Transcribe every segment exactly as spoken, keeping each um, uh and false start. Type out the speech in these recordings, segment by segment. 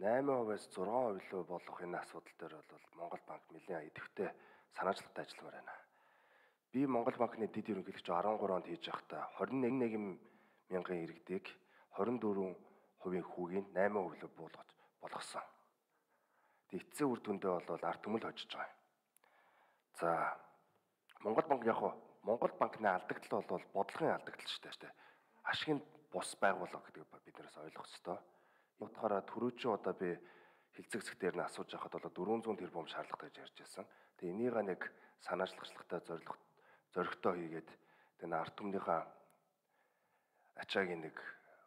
найман хувиас зургаан хувь руу болох энэ асуудал дээр бол Монгол банк нэлээд идэвхтэй санаачлалтай ажилламаар байна. Би Монгол банкны дэд ерөнхийлөгч арван гурав онд хийж байхдаа хорин нэг мянган иргэдийг хорин дөрвөн хувийн хүүгийн найман хувь руу буулгаж болгосон. Тэг эцсийн үр дүндээ бол ард түмэл хожиж байгаа юм. За Монгол банк яг хуу Монгол банкны алдагдал бол бодлогын алдагдал шүү дээ. Ашигын бус байгууллага гэдэг биднээс ойлгох ёстой. Утгаараа түрүүчийн одоо би хилцэг зэгтээр нь асууж байхад бол дөрвөн зуун тэрбум шаардлагатай гэж ярьж байсан. Тэгээ энийг нэг санаачлахтай зорилго зоригтой хийгээд тэгээ ард түмнийхээ ачаагийн нэг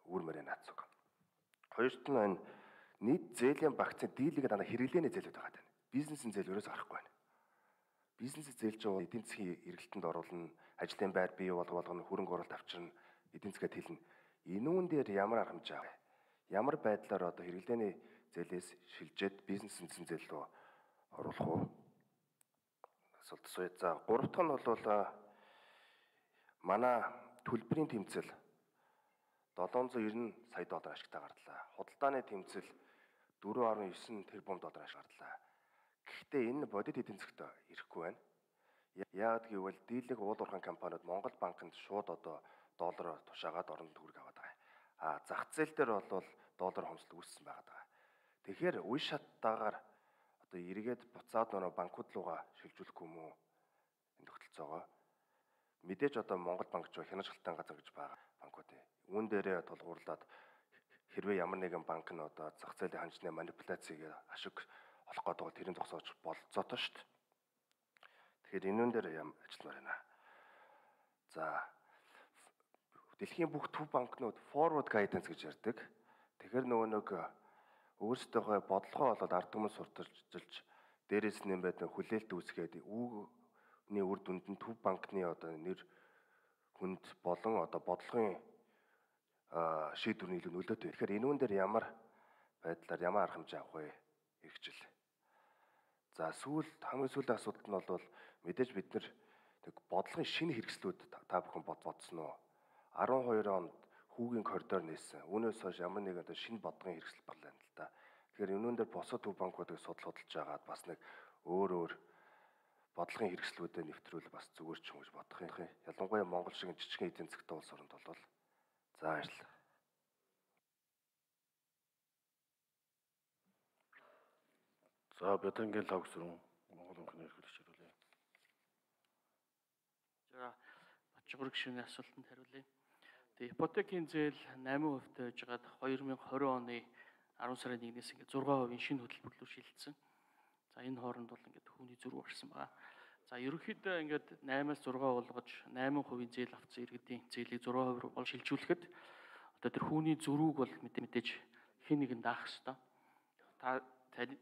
үүрмээр наацуг. Хоёрт нь энэ нийт зээлийн багцын дийлэнх дана хэрэглээний зээлүүд байгаа тань. Бизнесийн зээл өрөөс гарахгүй байна. Бизнесийн зээл чинь эдийн засгийн эргэлтэнд оруулна, ажлын байр бий болгоно, хөрөнгө оруулалт авчирна, эдийн засгаа тэлнэ. Энүүн дээр ямар арга хэмжээ авах вэ? Ямар байдлаар одоо хэрэглээний зээлээс шилжээд бизнесийн зээл рүү оруулах уу? Асуулт асууя. За гурав дахь нь бол манай төлбөрийн тэмцэл долоон зуун девяносто сая доллар ашигтай гарлаа. Худалдааны тэмцэл дөрвөн нугас девять тэрбум доллар ашиг гарлаа. Гэхдээ энэ бодит эдийн засагт ирэхгүй байна. Яагаад гэвэл дийлэнх уул уурхайн компаниуд Монгол банкнд шууд одоо доллараар тушаагаад орон төгрөг аваад байгаа. А зах зээл дээр бол доллар хомсдол үүссэн байгаа даа. Тэгэхээр үе шаттайгаар одоо эргээд буцаад нөө банкуд руугаа шилжүүлэхгүй юм уу? Энэ тогтолцоогоо мэдээж одоо Монгол банк ч хянаж халтан газар гэж байгаа банкуд. Үүн дээрээ тулгуурлаад хэрвээ ямар нэгэн банк нь одоо зах зээлийн ханжны манипуляцийг ашиг олох гэдэг бол тэрийн зогсоож болцоотой шүү дээ. Тэгэхээр энүүн дээр юм ажилламаар байна. За дэлхийн бүх төв банкнууд forward guidance гэж ярьдаг. Тэгэхээр нөгөө нэг өөрсдийнхөө бодлогоо бол ард түмэн сурталчилж дээрээс нь байд хүлээлт үүсгээд үүний үр дүнд нь төв банкны одоо нэр хүнд болон одоо бодлогын шийдвэрний илүү нөлөөтэй. Тэгэхээр энүүн дээр ямар байдлаар ямар арга хэмжээ авах вэ? Иргэжил. За сүүл хамгийн сүүлийн асуудал нь бол мэдээж бид нар нэг бодлогын шинэ хэрэгслүүд та бүхэн бодсон уу? арван хоёр онд хүүгийн коридор нээсэн. Үүнээс хойш ямар нэг одоо шинэ бодлогын хэрэгсэл боллоо юм л да. Тэгэхээр энүүн дээр босоо төв банкуудыг судал судалж байгаад бас нэг өөр өөр бодлогын хэрэгслүүдэд нэвтрүүл бас зүгээр ч юм гэж бодох юм. Ялангуяа Монгол шиг жижигхэн эдийн засгтай улс оронд бол за баярлалаа. За Бядангийн логсрон Монгол банкны эрхлэгч хариулъя. За Бачгүр гишүүний асуултанд хариулъя. Тэгээ ипотекийн зээл восемь хувьтай байж байгаад две тысячи двадцать оны арван сарын нэгнээс ингээд шесть хувийн шинэ хөтөлбөр рүү шилжсэн. За энэ хооронд бол ингээд хүүний зөрүү гарсан байгаа. За ерөнхийдөө ингээд восемь-аас шесть болгож восемь хувийн зээл авсан иргэдийн зээлийг шесть хувь руу бол шилжүүлэхэд одоо тэр хүүний зөрүүг бол мэдээж хэн нэгэн даах ёстой. Та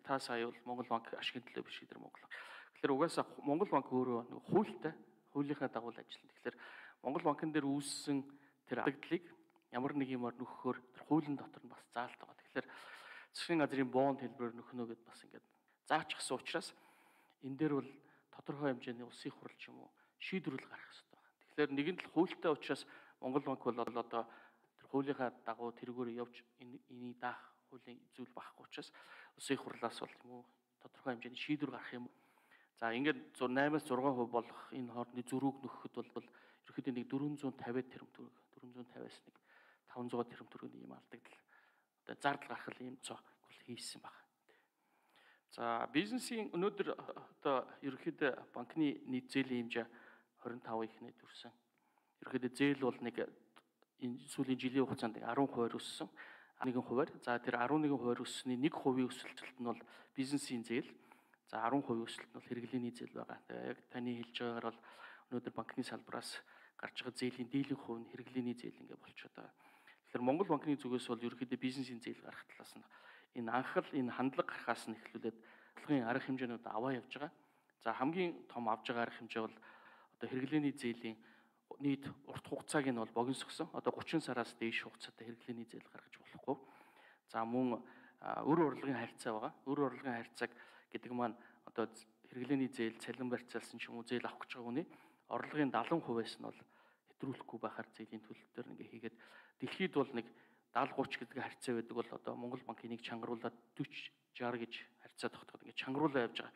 та сая бол Монгол банк ашигын төлөө биш гэдэг Монгол. Тэгэхээр угаасаа Монгол банк өөрөө нэг хуультай, хуулийнхаа дагуу ажиллана. Тэгэхээр Монгол банкн дээр үүссэн тэр алдагдлыг ямар нэг юмар нөхөхөөр тэр хуулийн дотор нь бас заалт байгаа. Тэгэхээр засгийн газрын бонд хэлбэрээр нөхнө гэдээ бас ингээд заачсан учраас энэ дээр бол тодорхой хэмжээний улсын хурал ч юм уу шийдвэрлэл гарах хэрэгтэй байна. Тэгэхээр нэгэн л хуультай учраас Монгол банк бол одоо тэр хуулийнхаа дагуу тэргээр явж энийг даах хуулийн зүйл багхгүй учраас улсын хурлаас бол юм уу тодорхой хэмжээний шийдвэр гарах юм. За ингээд восемь-аас шесть хувь болох энэ хоорондын зөрүүг нөхөхөд бол ерөөхдөө нэг дөрвөн зуун тавиад тэрбум төгрөг, дөрвөн зуун тавиас нэг таван зуун тэрбум төгрөгийн юм алдагдал. Одоо зардал гаргах юм цог хийсэн байна. За бизнесийн өнөөдөр одоо ерөөхдөө банкны нийт зээлийн хэмжээ двадцать пять ихнээд төрсэн. Ерөөхдөө зээл бол нэг энэ сүүлийн жилийн хугацаанд арван хувиар өссөн. нэгэн хувиар. За тэр арван нэгэн хувиар өссөний нэг хувийн өсөлтөлт нь бол бизнесийн зээл. За арван хувийн өсөлт нь бол хэрэглээний зээл байгаа. Тэгээ яг таны хэлж байгаагаар бол өнөөдөр банкны салбараас гарч байгаа зээлийн дийлэнх хувь нь хэрэглээний зээл ингээ болчиход байгаа. Тэгэхээр Монгол банкны зүгээс бол ерөөхдөө бизнесийн зээл гарах талаас нь энэ анхал энэ хандлага гарахаас нь эхлүүлээд бодлогын арга хэмжээнүүд аваа явж байгаа. За хамгийн том авж байгаа арга хэмжээ бол одоо хэрэглээний зээлийн нийт урт хугацааг нь бол богиносгосон. Одоо гучин сараас дээш хугацаатай хэрэглээний зээл гаргаж болохгүй. За мөн өр урлагийн харьцаа байгаа. Өр урлагийн харьцааг гэдэг маань одоо хэрэглээний зээл цалин барьцаалсан ч юм уу зээл авах гэж байгаа хүний орлогын даатан хувиас нь бол хэтрүүлэхгүй байхаар зээлийн төлөлтөөр ингээ хийгээд дэлхийд бол нэг даатгалын гуйч гэдэг харьцаа байдаг бол одоо Монгол банкын нэг чангаруулаад дөрвөн шестьдесят гэж харьцаа тогтоход ингээд чангаруулаа явж байгаа.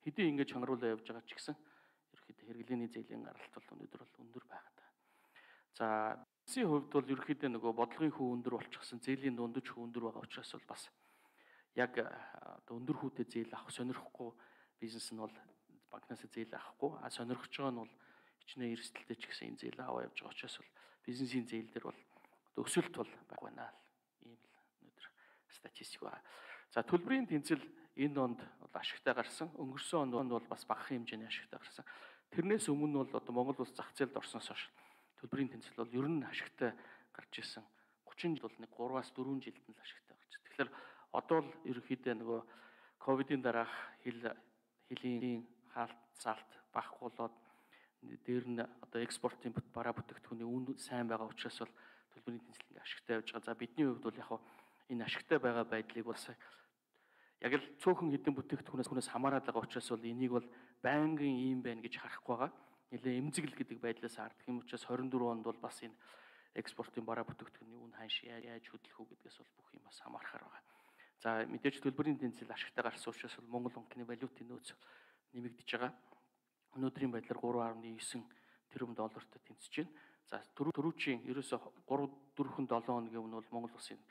Хэдий ингээд чангаруулаа явж байгаа ч гэсэн ерөөхдөө хэрэглээний зээлийн гаралт бол өнөөдөр бол өндөр байгаа даа. За бизнесийн хувьд бол ерөөхдөө нөгөө бодлогын хүү өндөр болчихсон, зээлийн дундаж хүү өндөр байгаа учраас бол бас яг одоо өндөр хүүтэй зээл авах сонирхгүй бизнес нь бол банкнаас зээл авахгүй, а сонирхож байгаа нь бол хичнээн эрсдэлтэй ч гэсэн энэ зээл аваа явж байгаа учраас бол бизнесийн зээл дээр бол одоо өсөлт бол баг байна л ийм л өнөөдөр статистик байна. За төлбөрийн тэнцэл энэ онд бол ашигтай гарсан. Өнгөрсөн онд бол бас бага хэмжээний ашигтай гарсан. Тэрнээс өмнө бол одоо Монгол улс зах зээлд орсноос хойш төлбөрийн тэнцэл бол ер нь ашигтай гарч ирсэн. гучин жил бол нэг гураваас дөрвөн жилд нь л ашигтай гарч. Тэгэхээр одоо л ерөнхийдөө нөгөө ковидын дараах хил хилийн хаалт залт багах болоод дээр нь одоо экспортын бараа бүтээгдэхүүний үн сайн байгаа учраас бол төлбөрийн тэнцэл ингээ ашигтай явж байгаа. За бидний хувьд бол яг энэ ашигтай байгаа байдлыг бас яг л цөөхөн хэдэн бүтээгдэхүүнээс хүнээс хамаарат байгаа учраас бол энийг бол байнгын ийм байна гэж харахгүй байгаа. Нилээ эмзэгл гэдэг байдлаас ардах юм учраас хорин дөрөв онд бол бас энэ экспортын бараа бүтээгдэхүүний үн ханш яаж хөдлөх үү гэдгээс бол бүх юм бас хамаархаар байгаа. За мэдээж төлбөрийн тэнцэл ашигтай гарсан учраас бол Монгол банкны валютын нөөц нэмэгдэж байгаа. Өнөөдрийн байдлаар гурван гаруй девять тэрбум доллартай тэнцэж байна. За түрүүчийн ерөөсө гурав дөрвөн долоон хоногийн өмнө бол Монгол улсын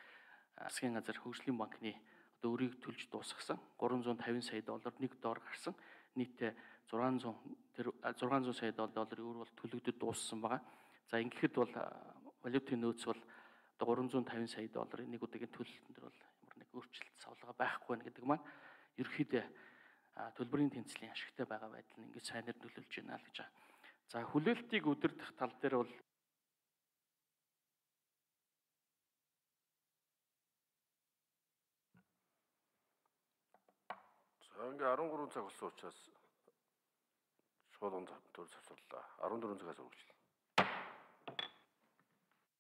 засгийн газар хөгжлийн банкны одоо өрийг төлж дуусгасан гурван зуун тавин сая доллар нэг доор гарсан. Нийтдээ зургаан зуун тэр зургаан зуун сая долларын өр бол төлөгдөд дууссан байгаа. За ингэхэд бол валютын нөөц бол одоо гурван зуун тавин сая долларын нэг удаагийн төлөлтөн дээр бол ямар нэг өөрчлөлт савлага байхгүй байна гэдэг маань ерөөхдөө төлбөрийн тэнцлийн ашигтай байгаа байдал нь ингэж сайнаар нөлөөлж байна л гэж байна. За хүлээлтийг өдөрдох тал дээр бол за ингээ арван гурван цаг болсон учраас шууд төр завсарлаа. арван дөрвөн цагаас үргэлжлэе.